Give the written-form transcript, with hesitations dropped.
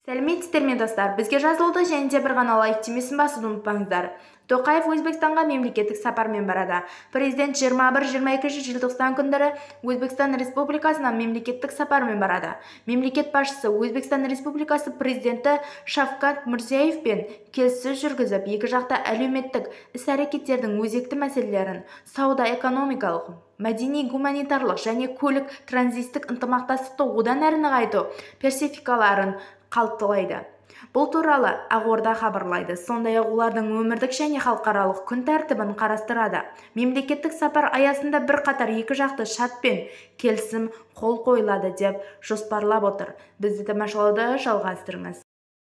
Сәлеметсіздер ме достар, бізге жазылды және де бір ғана лайк түймесін басуды ұмытпаңыздар. Тоқаев Өзбекстанға мемлекеттік сапармен барады. Президент 21-22 желтоқсан күндері Өзбекстан Республикасына мемлекеттік сапармен барады. Мемлекет басшысы Өзбекстан Республикасы президенті Шавкат Мирзиевпен келіссөз жүргізіп, екі жақты әлеуметтік іс-әрекеттердің өзекті мәселелерін, сауда-экономикалық, мәдени-гуманитарлық және көлік-транзиттік ынтымақтастықты одан әрі нығайту перспективаларын талқылайды. Бұл туралы Ақорда хабарлайды. Сондай-ақ олардың өмірлік және халықаралық күн тәртібін қарастырады. Мемлекеттік сапар аясында бірқатар екі жақты шарт пен келісім қол қойылады деп жоспарлап отыр. Бізді тамашалауды жалғастырыңыз.